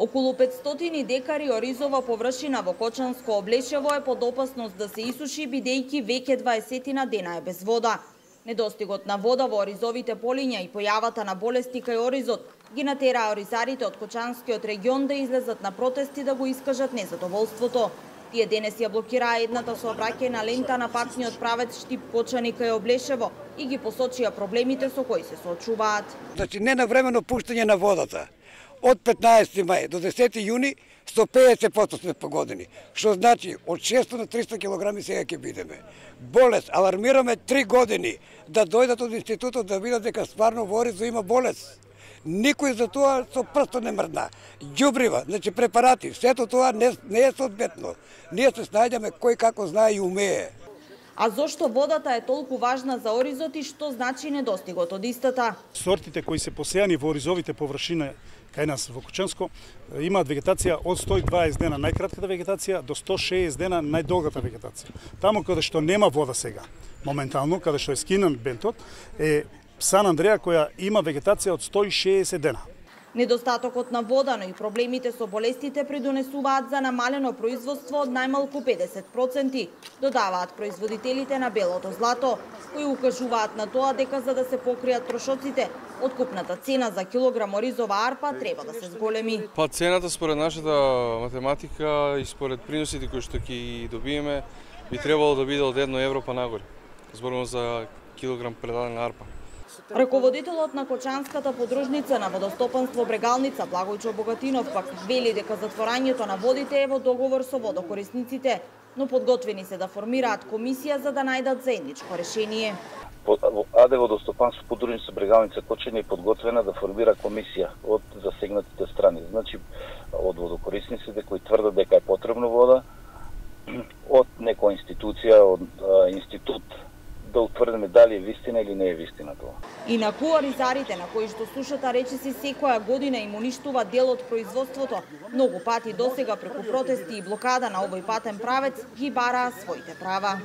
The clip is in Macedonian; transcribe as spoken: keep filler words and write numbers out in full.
Околу петстотини декари оризова површина во Кочанско Облешево е под опасност да се исуши, бидејќи веќе дваесет дена е без вода. Недостигот на вода во оризовите полиња и појавата на болести кај оризот ги натераа оризарите од Кочанскиот регион да излезат на протести да го искажат незадоволството. Тие денес ја блокираа едната сообраќајна лента на патниот правец Штип-Кочани кај Облешево и ги посочија проблемите со кои се соочуваат. Значи ненавремено пуштање на водата. Од петнаесети мај до десети јуни сто педесет проценти сме погодени, што значи од шестоста на триста килограми сега ќе бидеме. Болест, алармираме три години да дојдат од институтот да видат дека стварно во Оризо има болест. Никој за тоа со прсто не мрдна. Ѓубрива, значи препарати, сето тоа не, не е соодветно. Ние се снајдеме кој како знае и умее. А зошто водата е толку важна за оризот и што значи недостигот од истата? Сортите кои се посејани во оризовите површини кај нас во Кочанско имаат вегетација од сто и дваесет дена најкратката вегетација до сто и шеесет дена најдолгата вегетација. Таму каде што нема вода сега, моментално каде што е скинан бентот, е Сан Андреа која има вегетација од сто и шеесет дена. Недостатокот на вода, но и проблемите со болестите придонесуваат за намалено производство од најмалку педесет проценти, додаваат производителите на белото злато, кои укажуваат на тоа дека за да се покријат трошоците, откупната цена за килограм оризова арпа треба да се зголеми. Па цената според нашата математика и според приносите кои што ќе добиеме би требало да биде од едно евро па нагоре. Зборувам за килограм предадена арпа. Раководителот на Кочанската подружница на водостопанство Брегалница Благојчо Богатинов пак вели дека затворањето на водите е во договор со водокорисниците, но подготвени се да формираат комисија за да најдат заедничко решение. АД водостопанство подружница Брегалница Кочани е подготвена да формира комисија од засегнатите страни, значи од водокорисниците кои тврдат дека е потребно вода, од некоја институција, од а, институт, да утврдиме дали е вистина или не е вистина тоа. Инаку оризарите на кои што сушата речиси секоја година им уништува дел од производството, многу пати досега преку протести и блокада на овој патен правец ги бараа своите права.